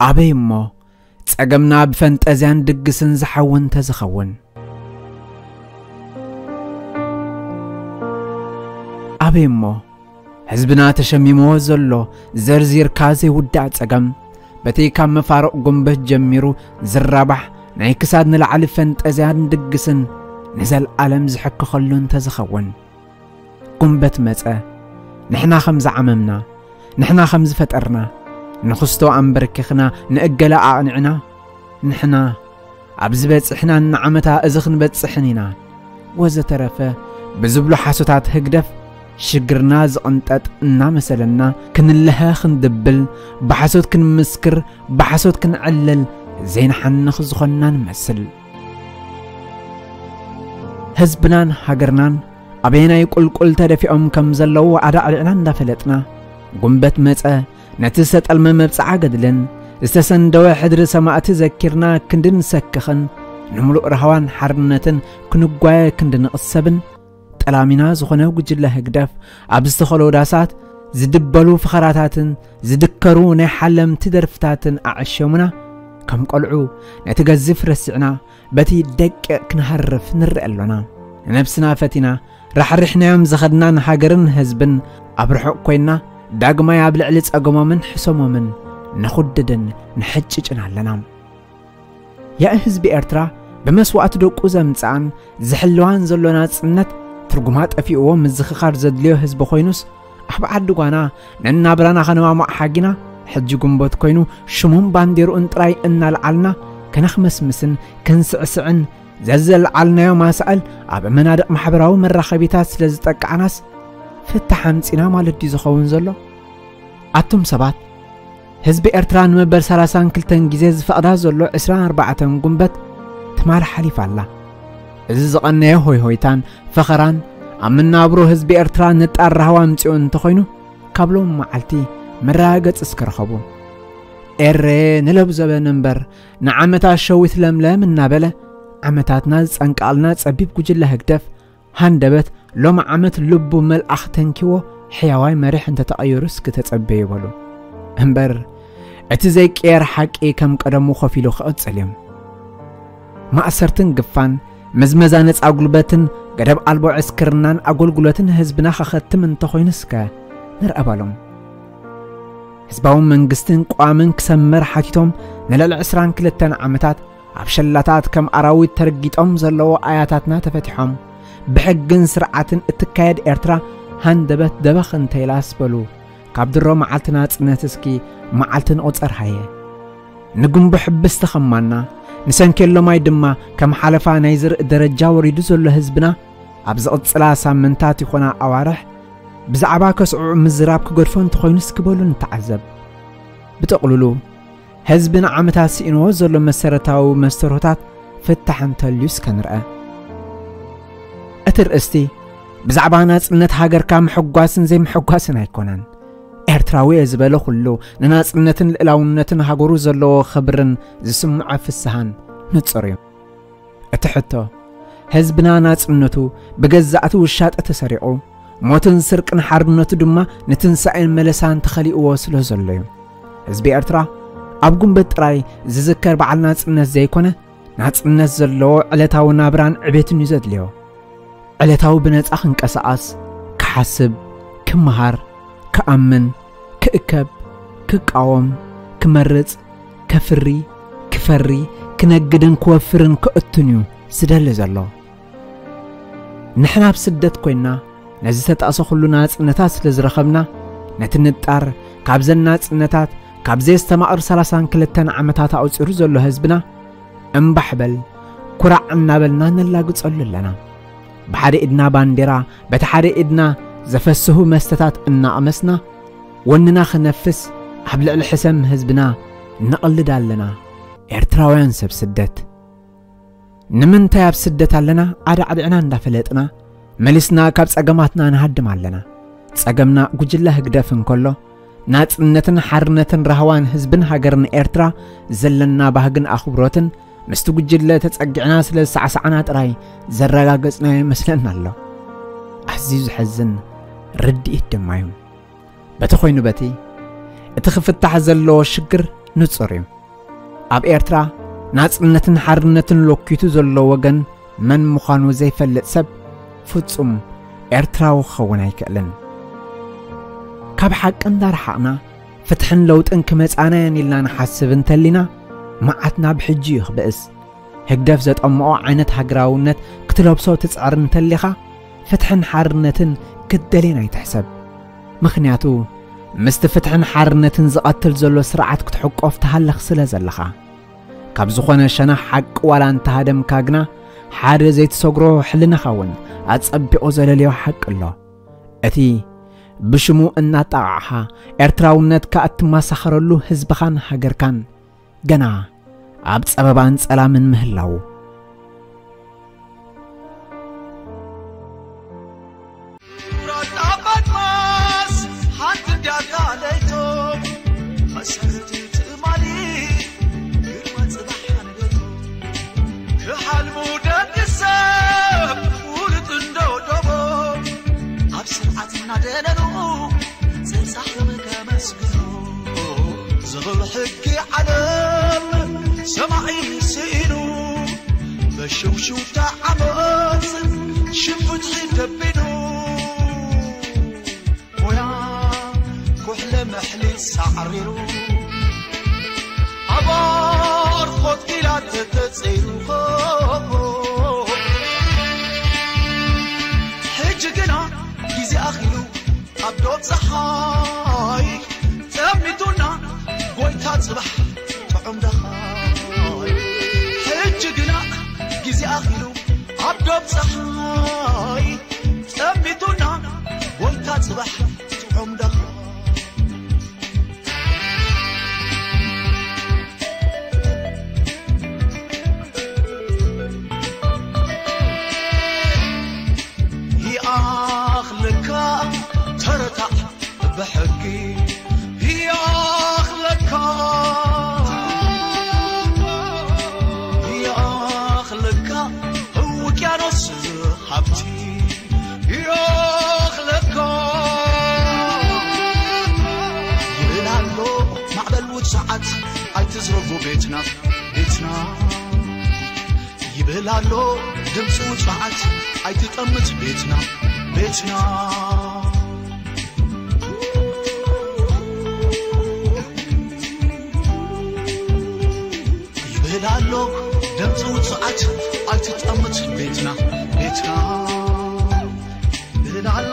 ኣበይ እሞ ጸገምና ብፈንጠዝያን ድግስን ዝሓዊ እንተዝኸውን? ኣበይ እሞ ህዝብና ተሸሚምዎ ዘሎ ዘርዚርካ ዘይውዳእ ጸገም፣ በቲ ካብ መፋርቕ ጉንበት ጀሚሩ ዝራባሕ ናይ ክሳድ ንላዕሊ ፈንጠዝያን ድግስን ንዘለኣለም ዝሕክኸሉ እንተዝኸውን? ጉንበት መጸ፣ ንሕና ከም ዝዓመምና፣ ንሕና ከም ዝፈጠርና፣ ንኽስቶ ኣንበርኪኽና፣ ንእገለ ኣቕኒዕና፣ ንሕና ኣብዚ በጺሕናን ንዓመታ እዚ ክንበጽሕን ኢና ወዘተረፈ ብዝብሉ ሓሶታት ህግደፍ፣ ሽግርና ዝቕንጠጥ እናመሰለና ክንለሀ ክንድብል፣ ብሓሶት ክንምስክር፣ ብሓሶት ክንዕልል ዘይንሓንኽ ዝኾንና ንመስል። ህዝብናን ሃገርናን ኣበየናይ ቁልቁል ተደፊኦም ከም ዘለዉ ኣዳዕዲዕና እንዳፈለጥና፣ ጉንበት መጸ ነቲ ዝተጠልመ መብጽዓ ገድልን ዝተሰንደወ ሕድሪ ሰማእቲ ዘኪርና ክንዲ ንሰክኽን፣ ንምሉእ ራህዋን ሓርነትን ክንጓየ ክንዲ ንቕሰብን፣ ጠላሚና ዝኾነ ጉጅለ ህግደፍ ኣብ ዝተኸሎ ዳሳት ዝድበሉ ፈኸራታትን ዝድከሩ ናይ ሓለምቲ ደርፍታትን ኣዕሸሙና፣ ከም ቆልዑ ነቲ ገዝፍ ረሲዕና በቲ ደቂቕ ክንሃርፍ ንርአ ኣሎና። ንነብስና ፈቲና ራሕሪሕናዮም ዝኸድና ንሃገርን ህዝብን ኣብ ርሑቕ ኮይና ዳግማይ ኣብ ልዕሊ ጸገሞምን ሕሰሞምን ንኹድድን ንሕጭጭን ኣለና። ያኢ ህዝቢ ኤርትራ ብመስዋእቲ ደቁ ዘምጽኣን ዝሕልዋን ዘሎ ናጽነት ትርጉማ ጠፊእዎ ምዝኽኻር ዘድልዮ ህዝቢ ኮይኑስ፣ ኣብ ዓዲ ጓና ነናብራና ከነማማቕ ሓጊና፣ ሕጂ ጉንበት ኮይኑ ሽሙን ባንዴርኡን ጥራይ እናልዓልና ከነኽመስምስን ክንስዕስዕን፣ ዘዘልዓልናዮ ማሳእል ኣብ መናድቕ ማሕበራዊ መራኸቢታት ስለ ዝጠቃዕናስ ፍታሕ ኣምጺና ማለት ድዩ ዝኸውን ዘሎ? ኣቱም ሰባት፣ ህዝቢ ኤርትራ ንመበል ሰላሳን ክልተን ግዜ ዝፈቕዳ ዘሎ ዕስራን ኣርባዕተን ጉንበት ትማል ሓሊፋ ኣላ። እዚ ዝቐነየ ሆይሆይታን ፈኸራን ኣብ መናብሮ ህዝቢ ኤርትራ ንጣር ራህዋ ኣምጺኡ እንተኾይኑ፣ ካብ ሎም መዓልቲ መረጋገጺ እስከ ረኸቡ። ኤረ ንለብዘበን እምበር ንዓመታት ሸዊት ለምለም እናበለ፣ ዓመታትና ዝጸንቃልና ጸቢብ ጉጅለ ህግደፍ ሃንደበት ሎም ዓመት ልቡ መልኣኽ ተንኪዎ ሕያዋይ መሪሕ እንተተቐይሩ እስኪ ተጸበዩ በሉ። እምበር እቲ ዘይቅየር ሓቂ ከም ቀደሙ ኮፍ ኢሉ ክቕጽል እዩ። ማእሰርትን ግፋን፣ መዝመዛ ነጻ ጉልበትን ገደብ ኣልቦ ዕስክርናን ኣገልግሎትን ህዝብና ከኸትም እንተኾይኑ እስከ ንርአ በሎም። ህዝባዊ መንግስትን ቅዋምን ክሰመር ሓቲቶም ንልዕሊ ዕስራን ክልተን ዓመታት ኣብ ሸላታት ከም ኣራዊት ተረጊጦም ዘለዉ ኣያታትና ተፈቲሖም፣ ብሕግን ስርዓትን እትካየድ ኤርትራ ሃንደበት ደበኽ እንተይላስ በሉ፣ ካብ ድሮ መዓልቲ ናጽነት እስኪ መዓልቲ ንቑጸር ሃየ። ንጉንቦ ሕብስቲ ኸማና፣ ንሰንኬሎ ማይ ድማ ከም ሓለፋ ናይ ዝርኢ ደረጃ ወሪዱ ዘሎ ህዝብና፣ ኣብ ዝቕጽላ ሳምንታት ይኾና ኣዋርሕ፣ ብዛዕባ ከስዕዑ ምዝራብ ክገድፎ እንተኾይኑ እስኪ በሉ ንተዓዘብ። ብጥቕልሉ፣ ህዝቢ ንዓመታት ስኢንዎ ዘሎ መሰረታዊ መስተርሆታት ፍታሕ እንተልዩ እስከ ንርአ። እቲ ርእስቲ ብዛዕባ ናጽነት ሃገርካ ምሕጓስን ዘይምሕጓስን ኣይኮነን። ኤርትራዊ እየ ዝበለ ኩሉ ንናጽነትን ልእላውነትን ሃገሩ ዘለዎ ክብርን ዝስምዖ ፍስሃን ንጹር እዩ። እቲ ሕቶ፣ ህዝብና ናጽነቱ ብገዛእቲ ውሻጠ ተሰሪቑ፣ ሞትን ስርቅን ሓርነቱ ድማ ንትንሳኤን መለሳን ተኸሊእዎ ስለ ዘሎ እዩ። ህዝቢ ኤርትራ ኣብ ጉንበት ጥራይ ዝዝከር በዓል ናጽነት ዘይኮነ፣ ናጽነት ዘለዎ ዕለታዊ ናብራን ዕቤትን እዩ ዘድልዮ። ዕለታዊ ብነጻ ክንቀሳቐስ፣ ክሓስብ፣ ክመሃር፣ ክኣምን፣ ክእከብ፣ ክቃወም፣ ክመርጽ፣ ከፍሪ፣ ክፈሪ፣ ክነግድን ክወፍርን ክእቱን እዩ ዝደሊ ዘሎ። ንሕና ኣብ ስደት ኮይንና ነዚ ዝተጠቕሰ ኩሉ ናጽነታት ስለ ዝረኸብና፣ ነቲ ንጣር ካብዘን ናጽነታት፣ ካብ ዘየስተማቕር ሰላሳን ክልተን ዓመታት ኣቑጺሩ ዘሎ ህዝብና፣ እምባሕ በል፣ ኩራዕ እናበልና ነላግጸሉ ኣለና። ብሓደ ኢድና ባንዴራ፣ በቲ ሓደ ኢድና ዘፈስሁ መስተታት እናቐመስና፣ ወንና ክነፍስ ኣብ ልዕሊ ሕሰም ህዝብና ንቐልድ ኣለና። ኤርትራውያን ሰብ ስደት፣ ንምንታይ ኣብ ስደት ኣለና ኣዳዕዲዕና እንዳፈለጥና፣ መሊስና ካብ ጸገማትና ንሃድም ኣለና። ጸገምና ጉጅለ ህግደፍ እንከሎ፣ ናጽነትን ሓርነትን ራህዋን ህዝብን ሃገርን ኤርትራ ዘለና ባህግን ኣኽብሮትን ምስቲ ጉጅለ ተጸጊዕና ስለ ዝሰዕሳዕና ጥራይ ዘረጋገጽናዮ ይመስለና ኣሎ። ኣዝዩ ዘሕዝን ርድኢት ድማ እዩ። በቲ ኮይኑ በቲ፣ እቲ ክፍታሕ ዘለዎ ሽግር ንጹር እዩ። ኣብ ኤርትራ ናጽነትን ሓርነትን ሎኪቱ ዘሎ ወገን መን ምዃኑ ዘይፈልጥ ሰብ ፍጹም ኤርትራዊ ክኸውን ኣይክእልን። ካብ ሓቂ እንዳረሓቕና ፍትሕን ለውጥን ክመጻና እየን ኢልና ንሓስብ እንተሊና፣ መዓትና ብሕጂ እዩ ክብእስ። ህግደፍ ዘጠምኦ ዓይነት ሃገራውነት ክትለብሶ ትጽዕር እንተሊኻ፣ ፍትሕን ሓርነትን ክትደልየን ኣይትሕሰብ። ምኽንያቱ፣ ምስቲ ፍትሕን ሓርነትን ዝቐትል ዘሎ ስርዓት ክትሕቆፍ ትሃልኽ ስለ ዘለኻ። ካብ ዝኾነ ሸነኽ ሓቂ ዋላ እንተሃደምካ ግና፣ ሓደ ዘይትሰግሮ ሕልናኻ እውን ኣጸቢቑ ዘለልዮ ሓቂ ኣሎ። እቲ ብሽሙ እናጣቓዕኻ ኤርትራውነትካ እትመሳኸረሉ ህዝብኻን ሃገርካን ገና ኣብ ጸበባን ጸላምን ምህላዉ። ኩራት ኣባት ማስ ሓንቲ እንድያ ካልኣይቶ፣ መሰረት ትእማኒ ግርማ ጽባሕ ኣንገቶ። ክሓልሙ ደቂ ሰብ ፍሉጥ እንዶ ዶቦ፣ ኣብ ስርዓት እናደነኑ ጸጻሕም ከመስግኑ። ዝኽሪ ሕጊ ዓለም ሰማዒ ስኢኑ፣ በሽውሽውታ ዓመፅ ሽም ፍትሒ ደቢኑ። ሞያ ኩሕለ መሕሊ ሳዕሪሩ፣ ኣብ ኣርኾት ኪላ ተተጸይሩ። ሕጂ ግና ግዜ ኣኺሉ ኣብ ዶብ ጸሓይ ጸሚቱና ጎይታ ጽባሕ ጥዑም ደኻይ። ሕጂ ግና ግዜ ኣኺሉ ኣብ ዶብ ጸሓይ ጸሚቱና ጎይታ ጽባሕ ጥዑም ደኻይ። ይኣኽለካ ተረታዕ ብሕጊ፣ ይኣኽለካ፣ ይኣኽለካ ውቅያኖስ ሃብቲ፣ ይኣኽለካ ይብል ኣሎ ማዕበል ውጽዓት ኣይትዝረጉ ቤትና፣ ቤትና። ይብል ኣሎ ድምፂ ውፅዓት ኣይትጠምት ቤትና፣ ቤትና። ይብል ኣሎ ድምፂ ውፅዓት ኣይትጠምት ቤትና፣ ቤትና። ይብል ኣሎ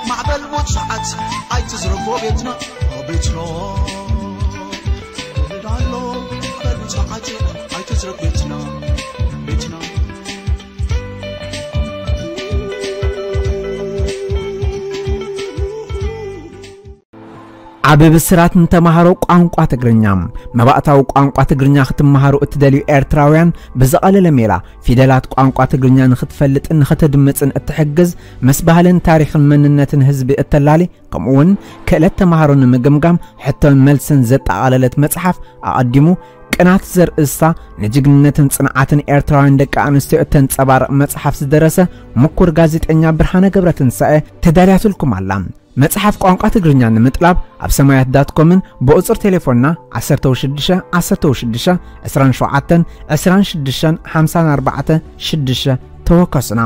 ማዕበል ውፅዓት ኣይትዝረጎ ቤትና፣ ቤትና። ይብል ኣሎ ማዕበል ውፅዓት ኣይትዝረጎ ቤትና፣ ቤትና። ዓቢ ብስራት ንተማሃሮ ቋንቋ ትግርኛ። መባእታዊ ቋንቋ ትግርኛ ክትመሃሩ እትደልዩ ኤርትራውያን ብዝቐለለ ሜላ ፊደላት ቋንቋ ትግርኛ ንኽትፈልጥን ንኽትድምጽን እትሕግዝ፣ ምስ ባህልን ታሪኽን መንነትን ህዝቢ እተላሊ፣ ከምኡውን ክእለት ተማሃሮ ንምግምጋም ሕቶን መልስን ዘጠቓለለት መጽሓፍ ኣቐዲሙ ቅናት ዘርእስታ ንጅግንነትን ጽንዓትን ኤርትራውያን ደቂ ኣንስትዮ እተንጸባርቕ መጽሓፍ ዝደረሰ ምኩር ጋዜጠኛ ብርሃነ ገብረትንሳኤ ተዳልያትልኩም ኣላ። መጽሓፍ ቋንቋ ትግርኛ ንምጥላብ ኣብ ሰማያት ዳት ኮምን ብቑጽሪ ቴሌፎንና ዓሰርተ ሽዱሽተ ዓሰርተ ሽዱሽተ ዕስራን ሸውዓተን ዕስራን ሽዱሽተን ሓምሳን ኣርባዕተን ሽዱሽተ ተወከሱና።